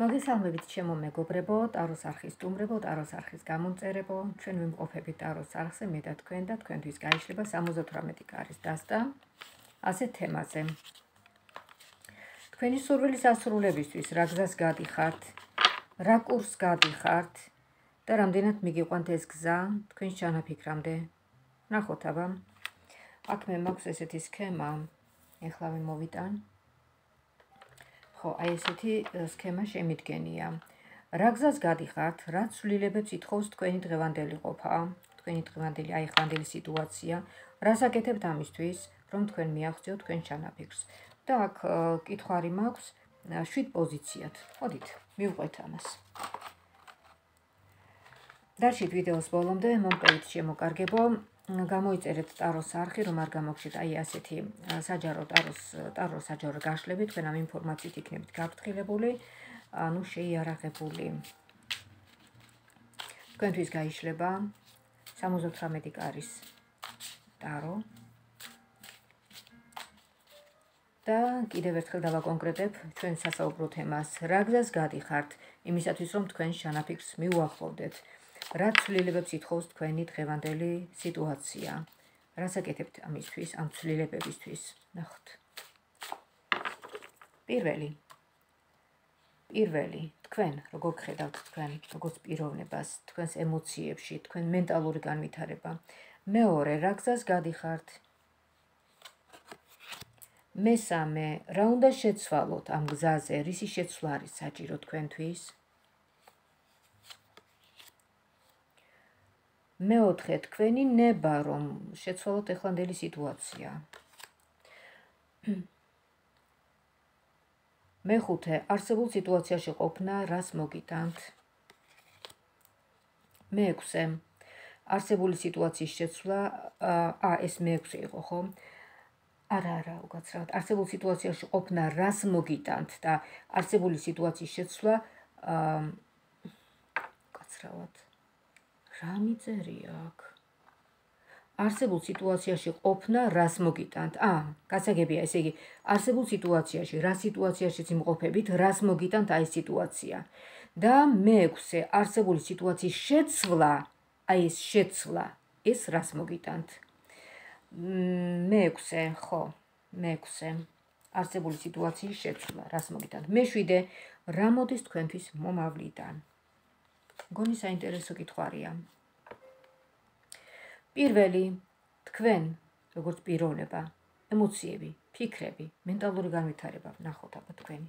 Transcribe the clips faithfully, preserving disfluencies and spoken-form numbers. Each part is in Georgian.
მოგესალმებით ჩემო მეგობრებო, ტაროს არხის სტუმრებო, ტაროს არხის გამომწერებო, ჩვენ ვიმყოფებით ტაროს არხზე, მე და თქვენ და თქვენთვის გაიშლება სამოცდაოთხმეტი კარის დასტა ასეთ თემაზე. თქვენი სურვილის ასრულებისთვის რა გზას გადიხართ, რა კურსს გადიხართ და რამდენად მიგიყვანთ ეს გზა თქვენს ჩანაფიქრამდე. ნახოთ აბა. აქ მე მაქვს ესეთი სქემა, ეხლა მოვიტან. ხო, აი ესეთი სქემა შემიდგენია. რა გზას გადიხართ, რა ცვლილებებს ითხოვს თქვენი დღევანდელი ყოფა, თქვენი დღევანდელი აი ხვანდელი სიტუაცია, რას აკეთებთ ამისთვის, რომ თქვენ მიაღწიოთ თქვენ ჩანაფიქრს. და აქ კითხვარი მაქვს შვიდ პოზიციად. მოდით, მივყვეთ ამას. დარჩით ვიდეოს ბოლომდე, მომყევით შემოკარგებო. გამოიწერეთ ტაროს არხი, რომ არ გამოგჩეთ აი ასეთი საჯარო ტაროს ტაროს საჯარო გაშლები, თქვენ ამ ინფორმაციით იქნებით გაფრთხილებული, ანუ შეიარაღებული. თქვენთვის გაიშლება სამოცდაოთხმეტი კარის ტარო. და კიდევ ერთხელ დავაკონკრეტებ ჩვენ სასაუბრო თემას, რა გზას გადიხართ იმისათვის, რომ თქვენ ჩანაფიქრს მიუახლოვდეთ. რა ცვლილებებს ითხოვს თქვენი დღევანდელი სიტუაცია. რას აკეთებთ ამისთვის, ამ ცვლილებებისთვის. ნახოთ. პირველი. პირველი, თქვენ, როგორ გხედავთ თქვენ, როგორც პიროვნებას, თქვენს ემოციებში, თქვენ მენტალური განვითარება. მეორე, რა გზას გადიხართ. მესამე, რა უნდა შეცვალოთ ამ გზაზე, რისი შეცვლა არის საჭირო თქვენთვის. მეოთხე, თქვენი ნება, რომ შეცვალოთ ეხლანდელი სიტუაცია. მეხუთე, არსებულ სიტუაციაში ყოფნა, რას მოგიტანთ. მეექვსე, არსებული სიტუაციის შეცვლა, ა, ეს მეექვსე იყო, ხო? არა, არა, უკაცრავად. არსებულ სიტუაციაში ყოფნა, რას მოგიტანთ და არსებული სიტუაციის შეცვლა, უკაცრავად. რა მიწერია აქ? არსებულ სიტუაციაში ყოფნა, რას მოგიტანთ. ა, გასაგებია, ესე იგი, არსებულ სიტუაციაში, რა სიტუაციაშიც იმყოფებით, რას მოგიტანთ აი ეს სიტუაცია. და მეექვსე, არსებული სიტუაციის შეცვლა, აი ეს შეცვლა, ეს რას მოგიტანთ. მეექვსე, ხო, მეექვსე, არსებული სიტუაციის შეცვლა, რას მოგიტანთ. მეშვიდე, რა მოდის თქვენთვის მომავლიდან. მგონი საინტერესო კითხვარია. პირველი, თქვენ, როგორც პიროვნება, ემოციები, ფიქრები, მენტალური განვითარება, ნახოთ აბა თქვენი.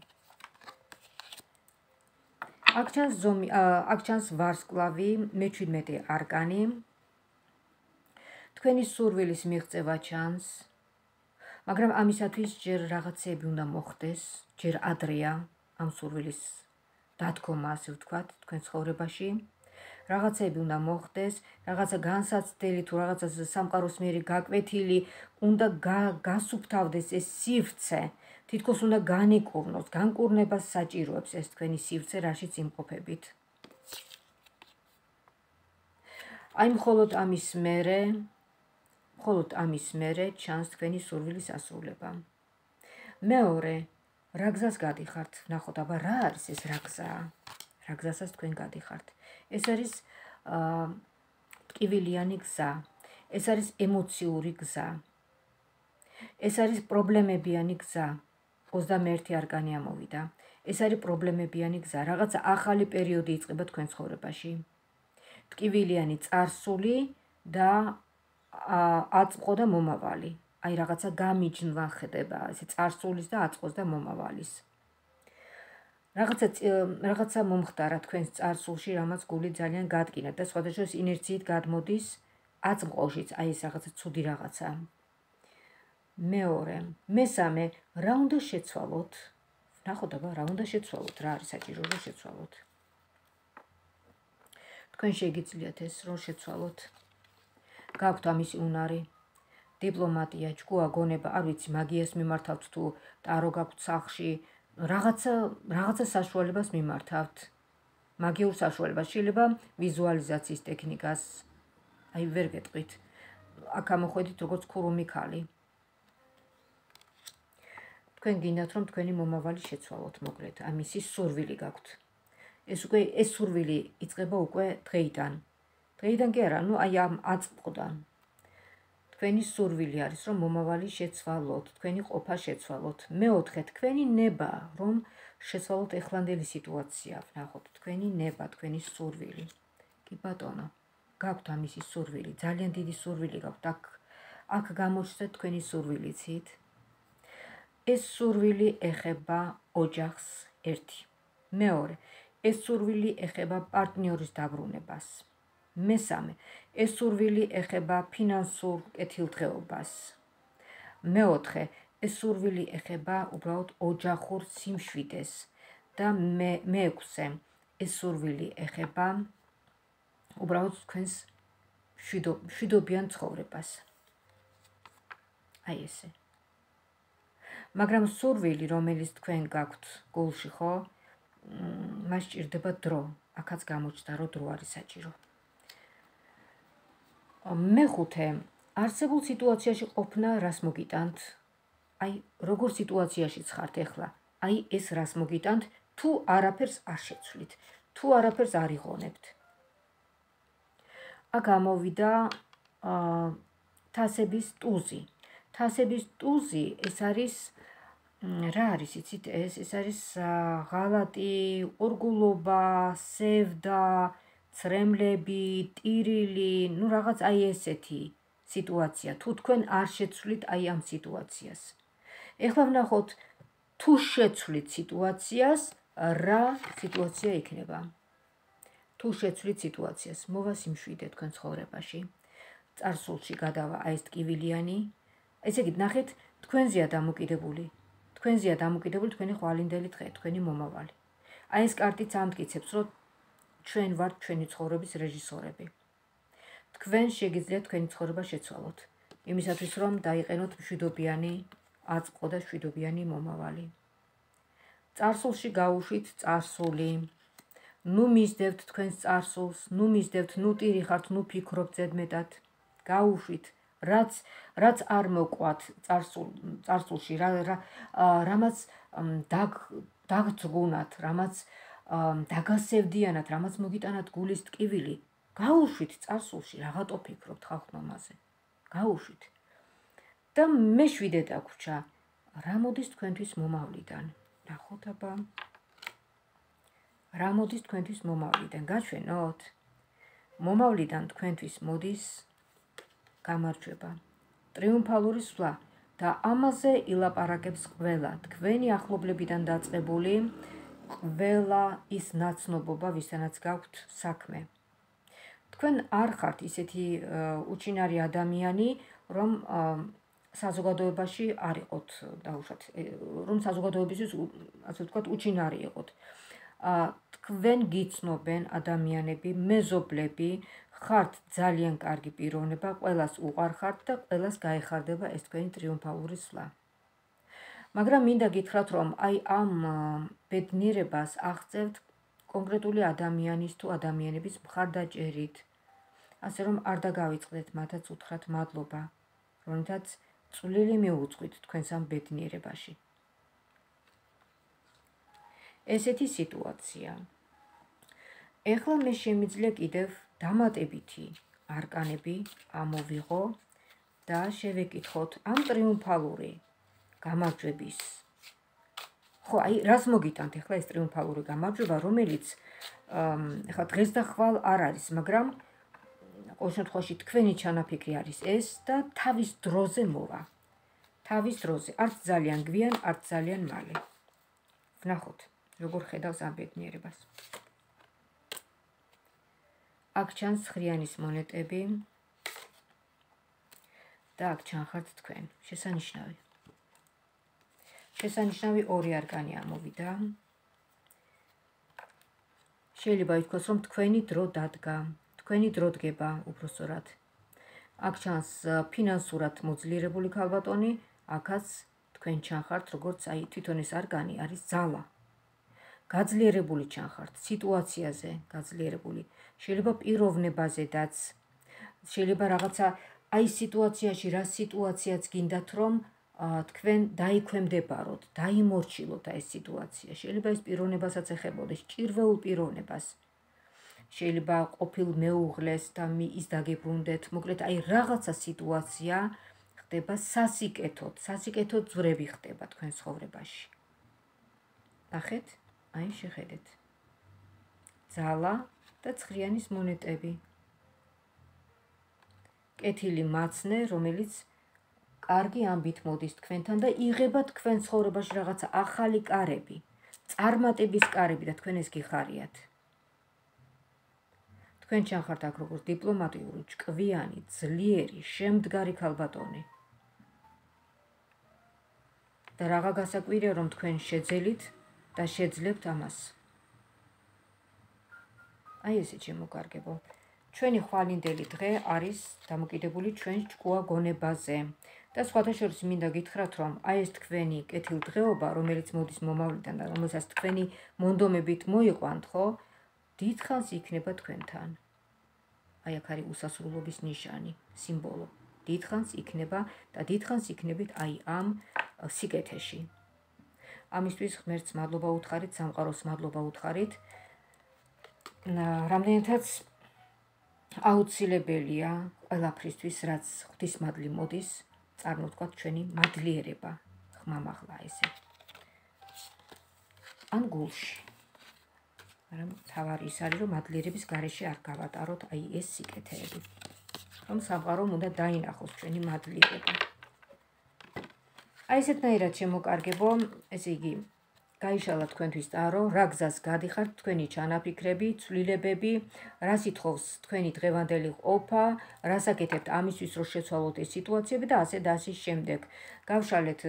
აქ ჩანს ზომი, აქ ჩანს ვარსკვლავი, მეჩვიდმეტე არკანი. თქვენი სურვილის მიღწევა ჩანს, მაგრამ ამისათვის ჯერ რაღაცები უნდა მოხდეს, ჯერ ადრეა ამ სურვილის დადგომა, ასე ვთქვათ, თქვენ ცხოვრებაში. რაღაცები უნდა მოხდეს, რაღაცა განსაცდელი თუ რაღაცა სამყაროს მიერ გაკვეთილი, უნდა გასუფთავდეს ეს სივრცე, თითქოს უნდა განიკურნოს, განკურნებას საჭიროებს ეს თქვენი სივრცე, რაშიც იმყოფებით. აი მხოლოდ ამის მერე, მხოლოდ ამის მერე ჩანს თქვენი სურვილის ასრულება. მეორე, რა გზას გადიხართ? ნახოთ, აბა რა არის ეს რა გზა? რა გზასაც თქვენ გადიხართ? ეს არის ტკივილიანი გზა, ეს არის ემოციური გზა, ეს არის პრობლემებიანი გზა. ოცდამეერთე არკანი ამოვიდა. ეს არის პრობლემებიანი გზა, რაღაცა ახალი პერიოდი იწყება თქვენ ცხოვრებაში. ტკივილიანი წარსული და აწყო და მომავალი. აი რაღაცა გამიჯნვა ხდება, ესე წარსულის და აწყოს და მომავალის. რაღაცა რაღაცა მომხდარა თქვენს წარსულში, რამაც გული ძალიან გადგინათ და სხვადასხვა ინერციით გადმოდის აწმყოშიც, აი ეს რაღაცა ცუდი რაღაცა. მეორე, მესამე, რა უნდა შეცვალოთ? ნახოთ აბა, რა უნდა შეცვალოთ, რა არის საჭირო რომ შეცვალოთ. თქვენ შეგიძლიათ ეს რომ შეცვალოთ. გაქვთ ამისი უნარი, დიპლომატია, ჭკუა, გონება, არ ვიცი, მაგიას მიმართავთ თუ ტარო გაქვთ სახლში, რაღაცა რაღაცა საშუალებას მიმართავთ. მაგიურ საშუალებას, შეიძლება ვიზუალიზაციის ტექნიკას, აი ვერ გეტყვით. აქ ამოხვედით როგორც ქურუმი ქალი. თქვენ გინდათ რომ თქვენი მომავალი შეცვალოთ მოკლედ, ამისი სურვილი გაქვთ. ეს უკვე ეს სურვილი იწყება უკვე დღეიდან. დღეიდან კი არა, ნუ აი ამ აწმყოდან. თქვენი სურვილი არის რომ მომავალი შეცვალოთ, თქვენი ყოფა შეცვალოთ. მეოთხე, თქვენი ნება რომ შეცვალოთ ეხლანდელი სიტუაცია, ვნახოთ, თქვენი ნება, თქვენი სურვილი. კი ბატონო, გაქვთ ამისი სურვილი, ძალიან დიდი სურვილი გაქვთ. აქ აქ გამოჩნდეთ თქვენი სურვილიცით. ეს სურვილი ეხება ოჯახს ერთი. მეორე, ეს სურვილი ეხება პარტნიორის დაბრუნებას. მესამე, ეს სურვილი ეხება ფინანსურ კეთილდღეობას. მეოთხე, ეს სურვილი ეხება უბრალოდ ოჯახურ სიმშვიდეს და მეექვსე, ეს სურვილი ეხება უბრალოდ თქვენს მშვიდობიან ცხოვრებას. აი ესე. მაგრამ სურვილი, რომელიც თქვენ გაქვთ გულში, ხო, მას სჭირდება დრო. აქაც გამოჩნდა, რომ დრო არის საჭირო. მეხუთე, არსებულ სიტუაციაში ყოფნა რას მოგიტანთ? აი, როგორ სიტუაციაშიც ხართ ახლა? აი, ეს რას მოგიტანთ, თუ არაფერს არ შეცვლით, თუ არაფერს არ იღონებთ. აქ გამოვიდა თასების ტუზი. თასების ტუზი ეს არის რა არის იცით ეს? ეს არის ღალატი, ყურგულობა, სევდა, ცრემლები, ტირილი, ნუ რაღაც აი ესეთი სიტუაცია. თუ თქვენ არ შეცვლით აი ამ სიტუაციას. ეხლა ვნახოთ, თუ შეცვლით სიტუაციას, რა სიტუაცია იქნება? თუ შეცვლით სიტუაციას, მოვა სიმშვიდე თქვენ ცხოვრებაში. წარსულში გადავა აი ეს ტკივილიანი. ესე იგი, ნახეთ, თქვენზეა დამოკიდებული. თქვენზეა დამოკიდებული თქვენი ხვალინდელი დღე, თქვენი მომავალი. აი ეს კარტიც ამტკიცებს, რომ ჩვენ ვართ ჩვენი ცხოვრების რეჟისორები. თქვენ შეგიძლიათ თქვენი ცხოვრება შეცვალოთ. იმისათვის, რომ დაიყენოთ მშვიდობიანი აწმყო და მშვიდობიანი მომავალი. წარსულში გაუშვით წარსული. ნუ მისდევთ თქვენს წარსულს, ნუ მისდევთ, ნუ ტირი ხართ, ნუ ფიქრობთ ზედმეტად. გაუშვით რაც რაც არ მოყვათ წარსულ წარსულში, რა რამაც დაგძგუნათ, რამაც დაგასევდიანათ, რამაც მოგიტანათ გულის ტკივილი. გაუშვით წარსულში, რაღაცო ფიქრობთ ხალხნომაზე. გაუშვით. და მეშვიდე დაგვრჩა, რა მოდის თქვენთვის მომავლიდან? ნახოთ აბა. რა მოდის თქვენთვის მომავლიდან? გაჩვენოთ. მომავლიდან თქვენთვის მოდის გამარჯვება, ტრიუმფალური სვლა და ამაზე ილაპარაკებს ყველა თქვენი ახლობლებიდან დაწყებული ყველა ის ნაცნობობა, ვისთანაც გაქვთ საქმე. თქვენ არ ხართ ისეთი უჩინარი ადამიანი, რომ საზოგადოებაში არ იყოთ დაუშვათ, რომ საზოგადოებისთვის, ასე ვთქვათ, უჩინარი იყოთ. თქვენ გიცნობენ ადამიანები, მეზობლები, ხართ ძალიან კარგი პიროვნება, ყველას უყვარხართ და ყველას გაეხარდება ეს თქვენი ტრიუმფალური სვლა. მაგრამ მინდა გითხრათ, რომ აი ამ ბედნიერებას აღწევთ კონკრეტული ადამიანის თუ ადამიანების მხარდაჭერით, ასე რომ არ დაგავიწყდეთ მათაც უთხრათ მადლობა, რომლითაც წვლილი მიუძღვით თქვენს ამ ბედნიერებაში. ესეთი სიტუაცია. ეხლა მე შემიძლია კიდევ დამატებითი არკანები ამოვიღო და შევეკითხოთ ამ ტრიუმფალური გამარჯვების. ხო, აი, რას მოგიტანთ ეხლა ეს ტრიუმფალური გამარჯვება, რომელიც ეხლა დღეს და ხვალ არ არის, მაგრამ ყოველ შემთხვევაში თქვენი ჩანაფიქრი არის ეს და თავის დროზე მოვა. თავის დროზე, არც ძალიან გვიან, არც ძალიან მალე. ვნახოთ, როგორ ხედავს ამ ბედნიერებას. აქ ჩანს ხრიანის მონეტები და აქ ჩანხართ თქვენ. შესანიშნავი. შესანიშნავი ორი არკანი ამოვიდა. შეიძლება ითქვას, რომ თქვენი დრო დადგა, თქვენი დრო დგება უბრალოდ. აქ ჩანს ფინანსურად მოძლიერებული ქალბატონი, აქაც თქვენ ჩანხართ, როგორც აი თვითონ ეს არკანი არის ძალა. გაძლიერებული ჩანხართ, სიტუაციაზე გაძლიერებული. შეიძლება პიროვნებაზედაც, შეიძლება რაღაცა აი სიტუაციაში, რა სიტუაციაც გინდათ, რომ თქვენ დაიქვემდებაროთ, დაიმორჩილოთ ეს სიტუაცია. შეიძლება ეს პიროვნებასაც ეხებოდეს, ჭირვეულ პიროვნებას. შეიძლება ყოფილ მეუღლეს და ის დაგებრუნდეთ. მოკლედ, აი რაღაცა სიტუაცია ხდება სასიკეთოდ, სასიკეთოდ ძვრები ხდება თქვენ ცხოვრებაში. ნახეთ, აი შეხედეთ. ძალა და ცხრიანის მონეტები. კეთილი მაცნე, რომელიც კარგი ამბით მოდის თქვენთან და იღება თქვენ ცხოვრებაში რაღაცა ახალი კარები, წარმატების კარები და თქვენ ეს გიხარიათ. თქვენ ჩახართ აქ როგორც დიპლომატიური, ჭკვიანი, ძლიერი, შემდგარი ქალბატონი. და რაღა გასაკვირია, რომ თქვენ შეძელით და შეძლებთ ამას. აი ესე შემოკარგებო. ჩვენი ხვალინდელი დღე არის დამოკიდებული ჩვენ ჭკუა გონებაზე. და სხვათა შორის მინდა გითხრათ, რომ აი ეს თქვენი კეთილდღეობა, რომელიც მოდის მომავლიდან და რომელსაც თქვენი მონდომებით მოიყვანთ, ხო, დიდხანს იქნება თქვენთან. აი აქ არის უსასრულობის ნიშანი, სიმბოლო. დიდხანს იქნება და დიდხანს იქნებით აი ამ სიკეთეში. ამისთვის ღმერთს მადლობა უთხარით, სამყაროს მადლობა უთხარით. რამდენადაც აუცილებელია ყველაფრისთვის, რაც ღვთისმადლი მოდის, წარმოვთქვათ ჩვენი მადლიერება, ხმამაღლა ესე. ან გულში. მაგრამ თავარი ის არის, რომ მადლიერების გარეშე არ გავატაროთ აი ეს სიკეთეები. რომ სამყარომ უნდა დაინახოს ჩვენი მადლიერება. აი ესეთნაირად შემოკარგებო, ესე იგი, გაიშალა თქვენთვის ტარო, რა გზას გადიხართ, თქვენი ჩანაფიქრები, ცვლილებები, რას ითხოვს თქვენი დღევანდელი ყოფა, რას აკეთებთ ამისთვის, რომ შეცვალოთ ეს სიტუაციები და ასე და ასე შემდეგ. გავშალეთ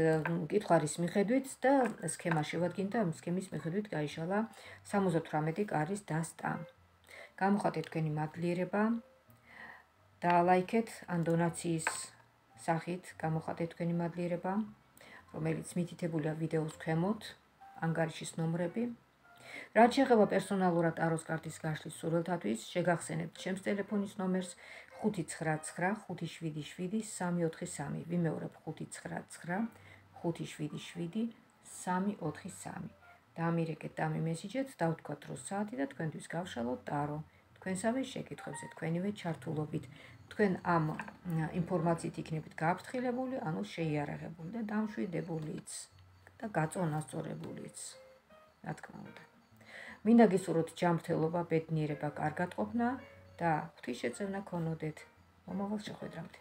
კითხვის მიხედვით და სქემა შევადგინეთ და სქემის მიხედვით გაიშალა სამოცდათვრამეტი კარის დასტა. გამოხატეთ თქვენი მადლიერება, დაალაიქეთ ან დონაციის სახით გამოხატეთ თქვენი მადლიერება, რომელიც მითითებულია ვიდეოს ქვემოთ. ანგარიშის ნომრები. რაც შეეხება პერსონალურად ტაროს კარტის გაშლის სურვილთათვის, შეგახსენებთ ჩემს ტელეფონის ნომერს ხუთი ცხრა ცხრა ხუთი შვიდი შვიდი სამი ოთხი სამი. ვიმეორებ ხუთი ცხრა ცხრა ხუთი შვიდი შვიდი სამი ოთხი სამი. დაამირეკეთ და ამიმესიჯეთ, დავთქვათ რო საათი და თქვენთვის გავშალოთ ტარო. თქვენსავე შეკითხვებზე თქვენივე ჩართულობით. თქვენ ამ ინფორმაციით იქნებით გააფრთხილებული, ანუ შეიარაღებული და დამშვიდებულიც. და გაწონასწორებულიც, რა თქმა უნდა. მინდა გისურვოთ ჯანმრთელობა, ბედნიერება, კარგად ყოფნა და ღვთისშეწევნა ქონოდეთ. მომავალ შეხვედრამდე.